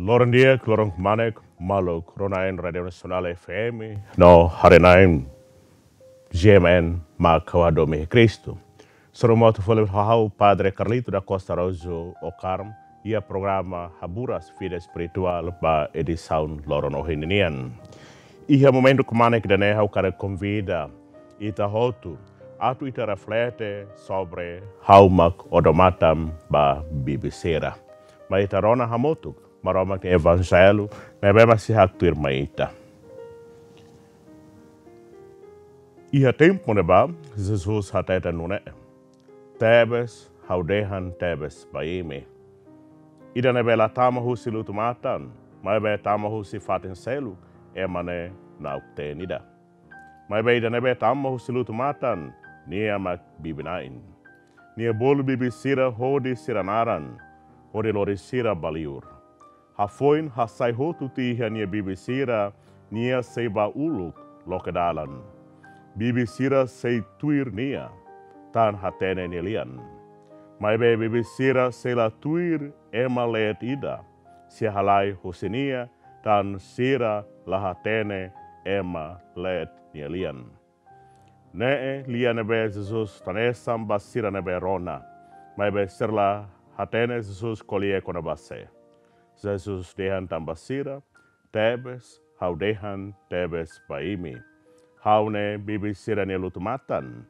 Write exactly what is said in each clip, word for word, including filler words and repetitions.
Loron di'ak, loron kmanek, maluk rona-na'in Rádiu Nasionál F M no haree-na'in G M N mak ha'u hadomi iha Kristu. Hasoru motu fali ho ha'u Padre Carlito da Costa Araújo Ocarmo, iha programa Haburas Vida Espirituál ba edisaun loron ohin ninian. Iha momentu kmanek ida-ne'e ha'u hakarak konvida ita hotu atu ita reflete sobre Ha'u mak odamatan ba bibi sira. Mai ita rona hamutuk Maromak nia Evanjellu ne'ebé mak sei haktuir mai ita. Iha tempu ne'ebá, Jesus hateten nune'e: Tebes, ha'u dehan tebes ba imi: ida ne'ebé la tama husi lutu-matan, maibé tama husi fatin seluk, ema ne'e na'ok-teen ida. Maibé ida ne'ebé tama husi lutu-matan, nia mak bibi-na'in. Nia bolu bibi sira hodi sira naran, hodi lori sira ba liur. Hafoin hasai hotu tiha nia bibi sira, nia sei bá uluk loke dalan. Bibi sira sei tuir nia, tan hatene nia lian. Maibé bibi sira sei la tuir ema leet ida, sei halai husi nia, tan sira la hatene ema leet nia lian. Ne'e lian ne'ebé Jesus hanesan ba sira ne'ebé rona, maibé sira la hatene Jesus ko'alia kona-ba sé. Jesus dehan tan ba sira: Tebes, ha'u dehan tebes ba imi: Ha'u ne'e bibi sira-nia lutu-matan.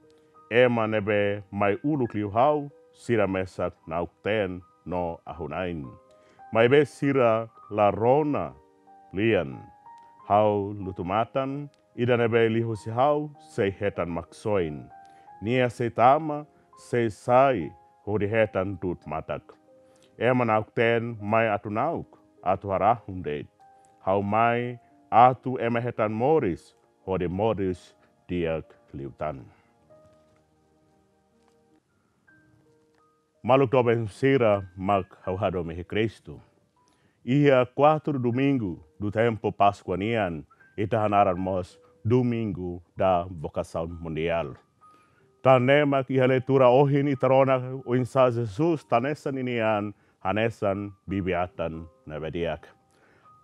Ema ne'ebé mai uluk liu ha'u, sira mesak na'ok-teen no ahu-na'in. Maibé sira la rona lian. Ha'u lutu-matan, ida ne'ebé liuhusi ha'u sei hetan Maksoin. Nia sei tama, sei sai, hodi hetan du'ut matak. Ema na'ok-teen mai atu na'ok, atu harahun de'it. Ha'u mai atu ema hetan moris, hodi moris di'ak liután. Maluk doben sira mak ha'u hadomi iha Kristu. Iha kuatru Domingu do tempu Páskua nian, ita hanaran mós Domingu da Vocação Mundial. Tan ne'e mak iha leitura ohin ita rona oinsá Jesus hanesan ninian hanesan bibi-atan ne'ebé di'ak.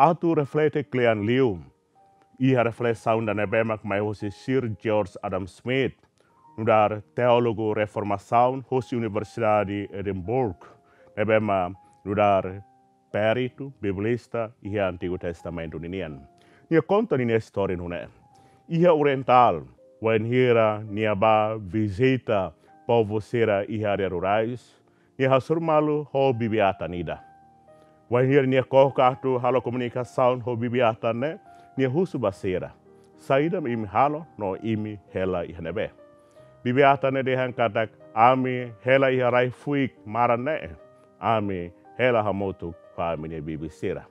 Atu reflete kle'an liu, iha reflesaun ida ne'ebé mak mai husi Sir George Adam Smith, nu'udar teólogu reformasaun husi Universidade Edimburgo, ne'ebé mak nu'udar peritu biblista iha Antigu Testamentu ninian. Nia konta ninia istória nune'e: iha Orientál, wainhira nia bá vizita povu sira iha área rurais, nia hasoru malu ho bibi-atan ida. Wainhira nia koko atu halo komunikasaun ho bibi-atan ne'e, nia husu ba sira: Saida mak imi halo no imi hela iha ne'ebé? Bibi-atan ne'e dehan katak: Ami hela iha rai-fuik maran ne'e. Ami hela hamutuk ho ami-nia bibi sira.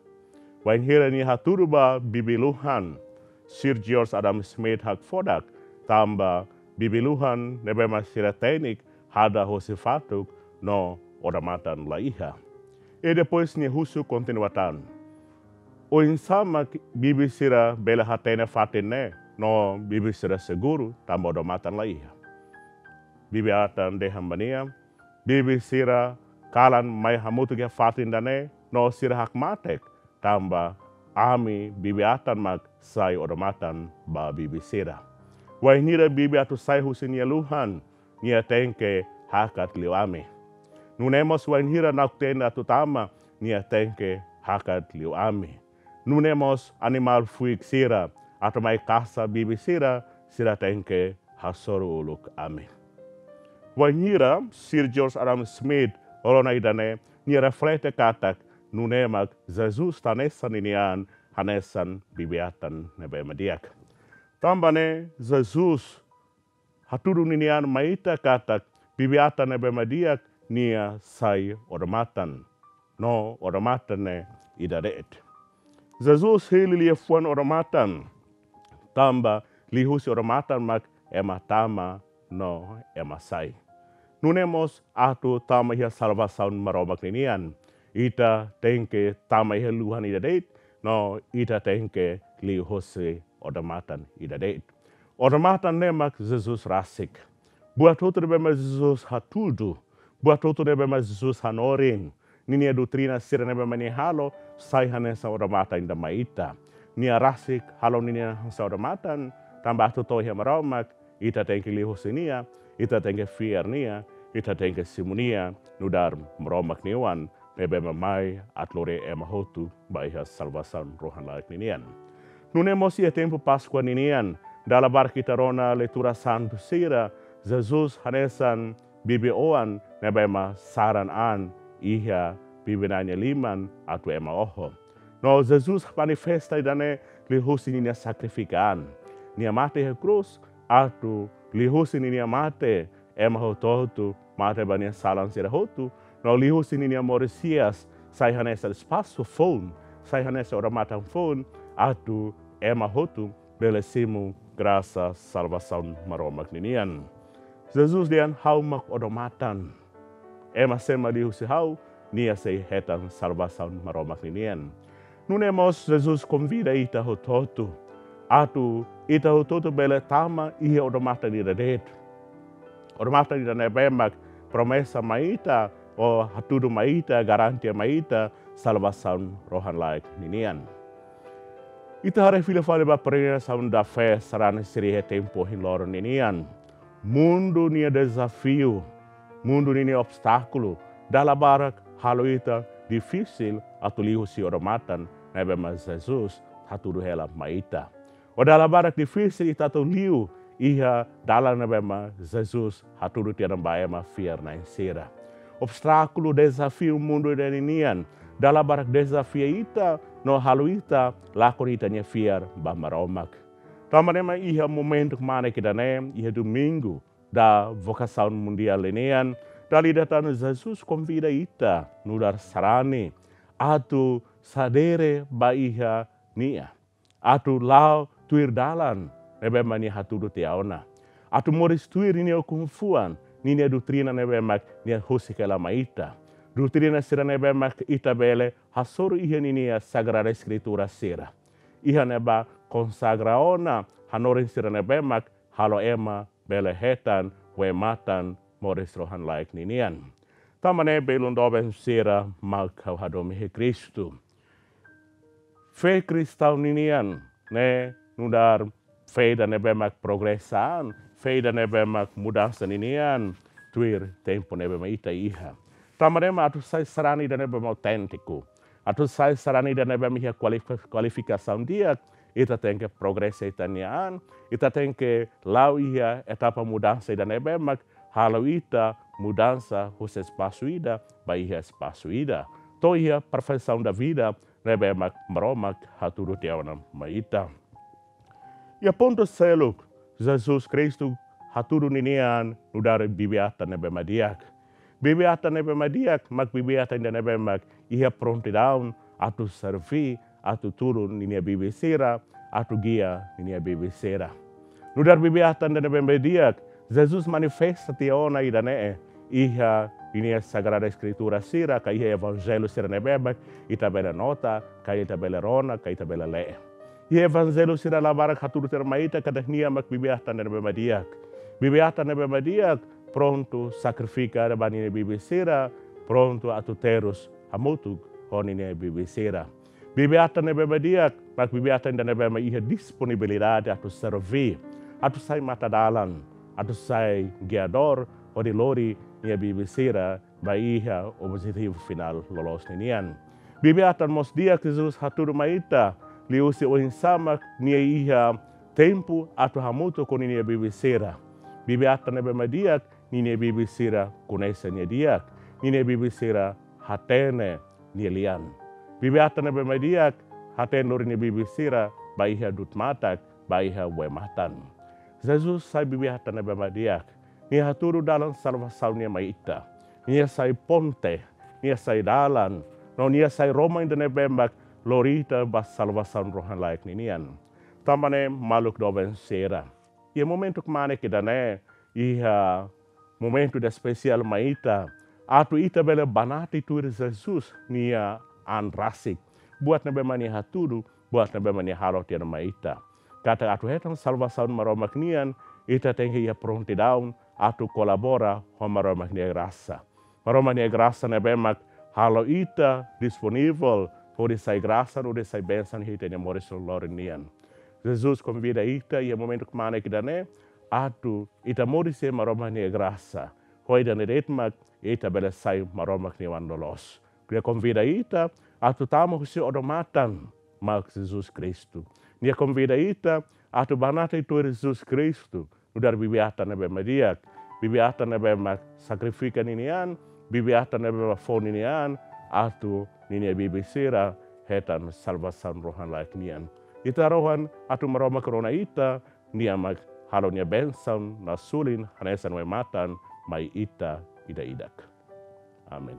Wainhira nia hatudu ba bibi-luhan, Sir George Adam Smith hakfodak, tanba bibi-luhan ne'ebé mak sira tenik hadah husi fatuk no odamatan la iha. I depois nia husu kontinua tan: Oinsá mak bibi sira bele hatene fatin ne'e no bibi sira seguru tanba odamatan la iha? Bibi-atan dehan ba nia: Bibi sira kalan mai hamutuk iha fatin ida-ne'e no sira hakmatek, tanba ami bibi-atan mak sai odamatan ba bibi sira. Wainhira bibi atu sai husi nia luhan, nia tenke hakat liu ami. Nune'e mós wainhira na'ok-teen atu tama, nia tenke hakat liu ami. Nune'e mós animál fuik sira atu mai kasa bibi sira, sira tenke hasoru uluk ami. Wainhira Sir George Adam Smith rona ida-ne'e, nia reflete katak nune'e mak Jesus hanesan ninian hanesan bibi-atan ne'ebé mak di'ak. Tanba ne'e Jesus hatudu ninian mai ita katak bibi-atan ne'ebé mak di'ak nia sai odamatan. No odamatan ne'e ida de'it. Jesus hili liafuan odamatan, tanba liuhusi odamatan mak ema tama no ema sai. Nune'e mós atu tama iha salvasaun Maromak ninian, ita tenke tama iha luhan ida de'it, no ita tenke liuhusi odamatan ida de'it. Odamatan ne'e mak Jesus rasik. Buat hotu ne'ebé mak Jesus hatudu, buat hotu ne'ebé mak Jesus hanorin, ninia doutrina sira ne'ebé mak nia halo, sai hanesan odamatan ida mai ita. Nia rasik halo ninia hanesan odamatan, tanba atu to'o iha Maromak, ita tenke liuhusi nia, ita tenke fiar nia, ita tenke simu nia, nu'udar Maromak nia oan, ne'ebé mak mai atu lori ema hotu ba iha salvasaun rohan-laek ninian. Nune'e mós iha tempu Páskua ninian, dala barak ita rona leitura santu sira, Jesus hanesan bibi-oan ne'ebé mak saran an iha bibi-na'in nia liman atu ema oho. No Jesus manifesta ida-ne'e liuhusi ninia sakrifika an. Nia mate iha krús, atu liuhusi ninia mate, ema hotu-hotu mate ba nia salan sira hotu, no liuhusi ninia moris hi'as, sai hanesan espasu foun, sai hanesan odamatan foun, atu ema hotu bele simu grasa salvasaun Maromak ninian. Jesus dehan ha'u mak odamatan. Ema sé mak liuhusi ha'u, nia sei hetan salvasaun Maromak ninian. Nune'e mós Jesus konvida ita hotu-hotu, atu ita hotu-hotu bele tama iha odamatan ida de'it. Odamatan ida ne'ebé mak promesa mai ita, ou hatudu mai ita, garantia mai ita, salvasaun rohan-laek ninian. Ita haree fila fali ba peregrinasaun da fé sarani sira iha tempu ohin loron ninian. Mundu nia dezafiu, mundu ninia obstákulu, dala barak halo ita difisil atu liuhusi odamatan ne'ebé mak Jesus hatudu hela mai ita. Ou dala barak difisil ita atu liu iha dalan ne'ebé mak Jesus hatudu tiha ona ba ema fiar-na'in sira. Obstákulu, dezafiu mundu ida ninian, dala barak dezafia ita, no halo ita lakon ita-nia fiar ba Maromak. Tanba ne'e mak iha momentu kmanek ida-ne'e, iha Domingu da Vokasaun Mundiál ninian, dala ida tan Jesus konvida ita nu'udar sarani, atu sadere ba iha nia, atu la'o tuir dalan ne'ebé mak nia hatudu tiha ona, atu moris tuir ninia ukun-fuan, ninia doutrina ne'ebé mak nia husik hela mai ita. Doutrina sira ne'ebé mak ita bele hasoru iha ninia Sagrada Eskritura sira. Iha ne'ebá konsagra ona hanorin sira ne'ebé mak halo ema bele hetan wematan moris rohan-laek ninian. Tanba ne'e belun doben sira mak ha'u hadomi iha Kristu. Fé kristaun ninian ne'e nu'udar fé ida ne'ebé mak progresa an, fé ida ne'ebé mak mudansa ninian, tuir tempu ne'ebé mak ita iha. Tanba ne'e mak atu sai sarani ida ne'ebé mak auténtiku, atu sai sarani ida ne'ebé mak iha kualif-, kualifikasaun di'ak, ita tenke progresa ita-nia an, ita tenke la'o iha etapa mudansa ida ne'ebé mak halo ita mudansa husi espasu ida ba iha espasu ida, to'o iha perfeição da vida ne'ebé mak Maromak hatudu tiha ona mai ita. Iha pontu seluk, Jesus Kristu hatudu ninian nu'udar bibi-atan ne'ebé mak di'ak. Bibi-atan ne'ebé mak di'ak mak bibi-atan ida ne'ebé mak iha prontidaun atu serví, atu tulun ninia bibi sira, atu gia ninia bibi sira. Nu'udar bibi-atan ida ne'ebé mak di'ak, Jesus manifesta tiha ona ida-ne'e iha ninia Sagrada Eskritura sira, ka iha Evanjellu sira ne'ebé mak ita bele nota, ka ita bele rona, ka ita bele lee. Iha Evanjellu sira dala barak hatudu tiha ona mai ita katak nia mak bibi-atan ida ne'ebé mak di'ak. Bibi-atan ida ne'ebé mak di'ak prontu sakrifika ba ninia bibi sira, prontu atu terus hamutuk ho ninia bibi sira. Bibi-atan ne'ebé mak di'ak mak bibi-atan ida ne'ebé mak iha disponibilidade atu serví, atu sai mata-dalan, atu sai giadór, hodi lori nia bibi sira ba iha objetivu finál loloos ninian. Bibi-atan mós di'ak Jesus hatudu mai ita liuhusi oinsá mak nia iha tempu atu hamutuk ho ninia bibi sira. Bibi-atan ne'ebé mak di'ak, ninia bibi sira koñese nia di'ak, ninia bibi sira hatene nia lian. Bibi-atan ne'ebé mak di'ak hatene lori nia bibi sira ba iha du'ut matak, ba iha wematan. Jesus sai bibi-atan ne'ebé mak di'ak. Nia hatudu dalan salvasaun nian mai ita. Nia sai ponte, nia sai dalan, no nia sai roman ida ne'ebé mak lori ita ba salvasaun rohan-laek ninian. Tanba ne'e maluk doben sira, iha momentu kmanek ida-ne'e, iha momentu ida espesiál mai ita, atu ita bele banati tuir Jesus nia an rasik. Buat ne'ebé mak nia hatudu, buat ne'ebé mak nia halo tiha ona mai ita. Katak atu hetan salvasaun Maromak nian, ita tenke iha prontidaun atu kolabora ho Maromak nia grasa. Maromak nia grasa ne'ebé mak halo ita disponivel hodi sai grasa, hodi sai bensaun iha ita-nia moris loron nian. Jesus konvida ita iha momentu kmanek ida-ne'e atu ita moris iha Maromak nia grasa. Ho ida-ne'e de'it mak ita bele sai Maromak nia oan loloos. Nia konvida ita atu tama husi odamatan mak Jesus Kristu. Nia konvida ita atu banati tuir Jesus Kristu, nu'udar bibi-atan ne'ebé mak di'ak, bibi-atan ne'ebé mak sakrifika ninia an, bibi-atan ne'ebé mak fó ninia an atu ninia bibi sira hetan salvasaun rohan-laek nian. Ita rohan atu Maromak rona ita, nia mak halo nia bensaun nasulin hanesan wai-matan mai ita ida-idak. Amen.